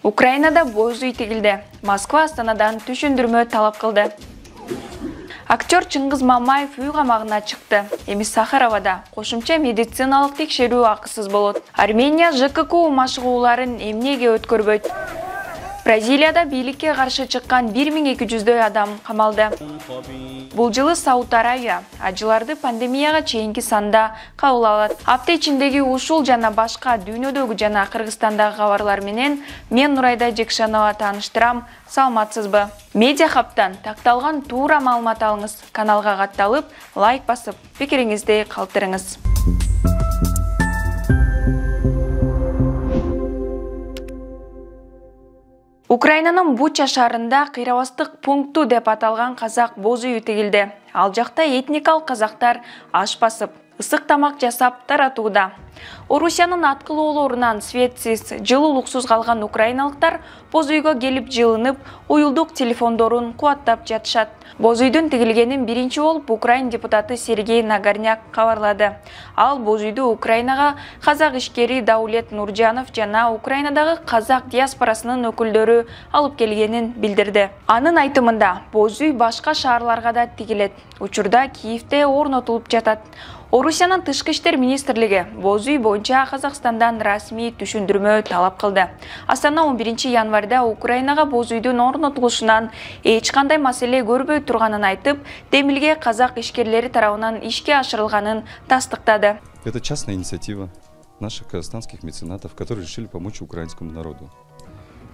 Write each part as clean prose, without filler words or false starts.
Украинада боз үй тигилди. Москва Астанадан түшүндүрмө талап кылды. Актер Чыңгыз Мамаев үй камагына чыкты. Эми Сахаровада кошумча медициналык текшерүү акысыз болот. Армения ЖКК машыгууларын эмнеге өткөрбөйт? Бразилияда бийликке каршы чыккан 1200дөй адам камалды. Бул жылы Сауд Арабия ажыларды пандемияга чейинки санда кабыл алат. Апта ичиндеги ушул жана башка дүйнөдөгү жана Кыргызстандагы кабарлар менен мен Нурайда Жекшанова тааныштырам. Саламатсызбы? Медиа Хабтан такталган туура маалымат алыңыз. Каналга катталып, лайк басып, пикириңизди калтырыңыз. Украинанын Буча шаарында кыйрабастык пункту деп аталган казак боз үйү тигилди. Ал жакта этникалык казактар аш басып, ысык тамак жасап таратууда. Орусиянын аткылоолорунан светсиз, жылуулуксуз калган украиналыктар боз үйгө келип жылынып, уюлдук телефондорун кубаттап жатышат. Боз үйдүн тигилгенин биринчи болуп Украин депутаты Сергей Нагорняк кабарлады. Ал боз үйдү Украинага казак ишкери Даулет Нуржанов жана Украинадагы казак диаспорасынын өкүлдөрү алып келгенин билдирди. Анын айтымында, боз үй башка шаарларга да тигилет. Учурда Киевде орнотулуп жатат. Орусиянын тышкы иштер министрлиги боз үй боюнча Казакстандан расмий түшүндүрмө талап кылды. Астана 11 январда Украинага боз үйдүн орнотулушунан эч кандай маселе көрбөй турганын айтып, демилге казак ишкерлери тарабынан ишке ашырылганын тастыктады. Это частная инициатива наших казахстанских меценатов, которые решили помочь украинскому народу.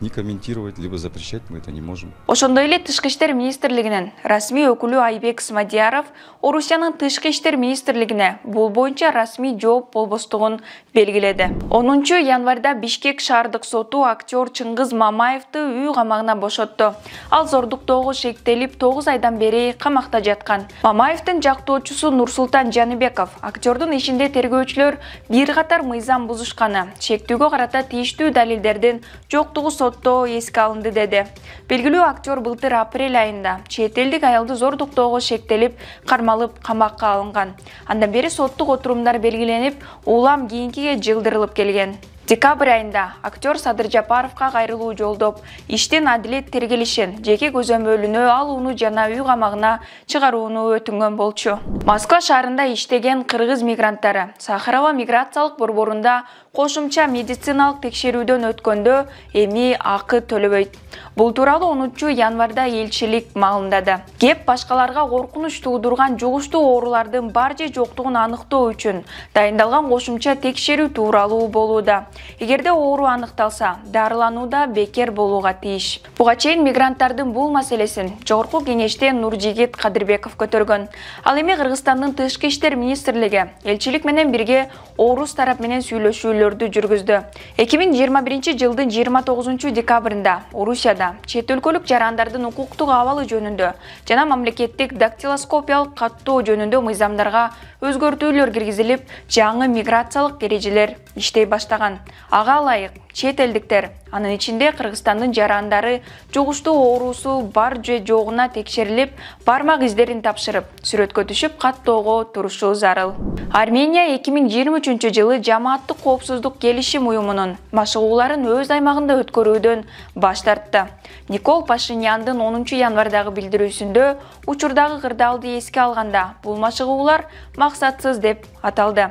Не комментировать, либо запрещать мы это не можем. Ошондой эле тышкы иштер министрлигинин расмий өкүлү Айбек Смадияров Орусиянын тышкы иштер министрлигине бул боюнча расмий жооп болбостугун белгиледи. 10 январда Бишкек шаардык соту актер Чыңгыз Мамаевди үй камагына бошотту. Ал зордуктоого шектелип 9 айдан бери камакта жаткан. Мамаевдин жактоочусу Нурсултан Жаныбеков актердун ишинде тергөөчүлөр бир катар мыйзам бузушканы, шектүүгө карата тийиштүү далилдердин жоктугу сотто эске алынды деди. Белгилүү актер былтыр апрель айында чет элдик аялды зордуктоого шектелип, кармалып камакка алынган. Андан бери соттук отурумдар белгиленип, улам кийинкиге жылдырылып келген. Декабрь айында актер Садыр Жапаровка кайрылуу жолдоп, иштин адилет тергелишин, жеке көзөмөлүнө алууну жана үй камагына чыгарууну өтүнгөн болчу. Москва шаарында иштеген кыргыз мигранттары Сахарова миграциялык борборунда кошумча медициналык текшерүүдөн өткөндө эми акы төлөбөйт. Бул тууралуу 10 январда элчилик маалымдады. Кеп башкаларга коркунуч туудурган жугуштуу оорулардын бар же жоктугун аныктоо үчүн дайындалган кошумча текшерүү тууралуу болууда. Эгерде оору аныкталса, дарылануу да бекер болууга тийиш. Буга чейин мигранттардын бул маселесин Жогорку кеңеште Нуржигит Кадырбеков көтөргөн. Ал эми Кыргызстандын тышкы иштер министрлиги элчилик менен бирге орус тарап менен сүйлөшүүлөрдү жүргүздү. 2021 жылдын 29 декабрында Орусияда чет өлкөлүк жарандардын укуктук абалы жөнүндө жана мамлекеттик дактилоскопиялык каттоо жөнүндө мыйзамдарга өзгөртүүлөр киргизилип, жаңы миграциялык эрежелер иштей баштаган. Ага ылайык чет элдиктер, анын ичинде Кыргызстандын жарандары жугуштуу оорусу бар же жогуна текшерилип, бармак издерин тапшырып, сүрөткө түшүп каттоого турушу зарыл. Армения 2023 жылы жамааттык коопсуздук келишим уюмунун машыгууларын өз аймагында өткөрүүдөн баш тартты. Никол Пашиняндын 10 январдагы билдирүүсүндө учурдагы кырдаалды эске алганда бул машыгуулар максатсыз деп аталды.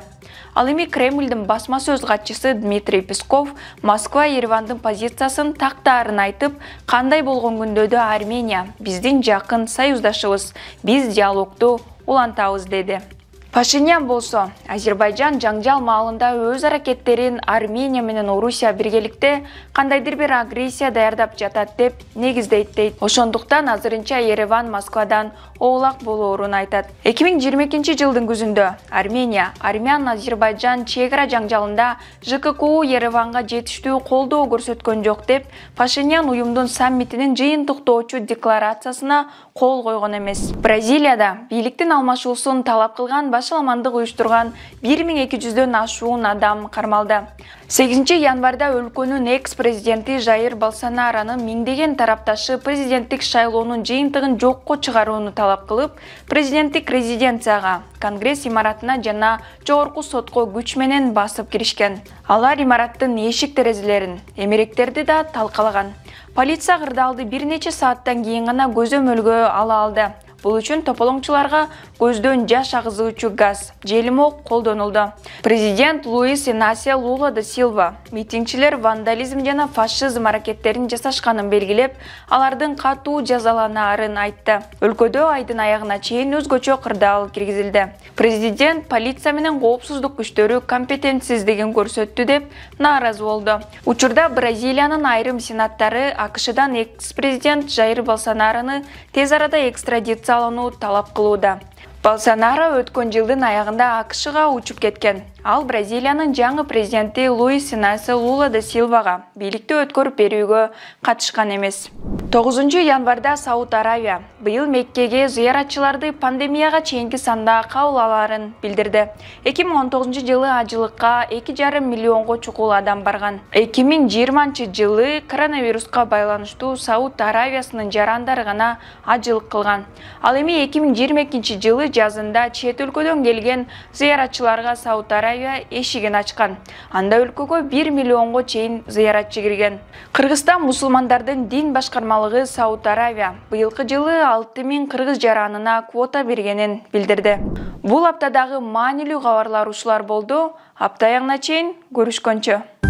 Ал эми Кремлдин басма сөз катчысы Дмитрий Песков Москва Еревандын позициясын тактаарын айтып, кандай болгон күндө да Армения биздин жакын союздашыбыз, биз диалогду улантабыз деди. Пашинян болсо, Азербайжан жаңжал маалында өз аракеттерин Армения менен Орусия биргеликте кандайдыр бир агрессия даярдап жатат деп негиздейт дейт. Ошондуктан азырынча Ереван Москвадан оолак болоорун айтат. 2022 жылдын күзүндө Армения, Армян-Азербайжан чегара жаңжалында ЖКК Ереванга жетиштүү колдоо көрсөткөн жок деп Пашинян уюмдун саммитинин жыйынтыктоочу декларациясына кол койгон эмес. Бразилияда бийликтин алмашуусун талап кылган башаламандык уюштурган 1200дөн ашуун адам кармалды. 8 январда өлкөнүн экс-президенти Жайыр Болсонаронун миңдеген тарапташы президенттик шайлоонун жыйынтыгын жокко чыгарууну талап кылып, президенттик резиденцияга, Конгресс имаратына жана жогорку сотко күч менен басып киришкен. Алар имараттын эшик-терезелерин, эмеректерди да талкалаган. Полиция кырдаалды бир нече сааттан кийин гана көзөмөлгө ала алды. Бул үчүн тополоңчуларга көздөн жаш агызуучу газ, желимок колдонулду. Президент Луис Инасио Лула да Силва митингчилер вандализм жана фашизм аракеттерин жасашканын белгилеп, алардын катуу жазаланаарын айтты. Өлкөдө айдын аягына чейин өзгөчө кырдаал киргизилди. Президент полиция менен коопсуздук күчтөрү компетентсиздигин көрсөттү деп нааразы болду. Учурда Бразилиянын айрым сенаттары АКШдан экс-президент Жайыр Болсонарону тез арада экстрадициялоону талап кылууда. Болсонаро өткөн жылдын аягында АКШга учуп кеткен. Ал Бразилиянын жаңы президенти Луис Инасио Лула да Силвага бийликти өткөрүп берүүгө катышкан эмес. 9 январда Сауд Аравия быйыл Меккеге зыяратчыларды пандемияга чейинки санда кабыл алаарын билдирди. 2019 жылы ажылыкка 2,5 миллионго чукул адам барган. 2020 жылы коронавируска байланыштуу Сауд Аравиясынын жарандары гана ажылык кылган. Ал эми 2022 жылы жазында чет өлкөдөн келген зыяратчыларга Сауд Аравия эшигин ачкан. Анда өлкөгө 1 миллионго чейин зыяратчы кирген. Кыргызстан мусулмандардын дин башкармалыгы Сауд Аравия быйылкы жылы 6000 кыргыз жаранына квота бергенин билдирди. Бул аптадагы маанилүү кабарлар ушулар болду. Апта аяғына чейин көрүшкөнчө.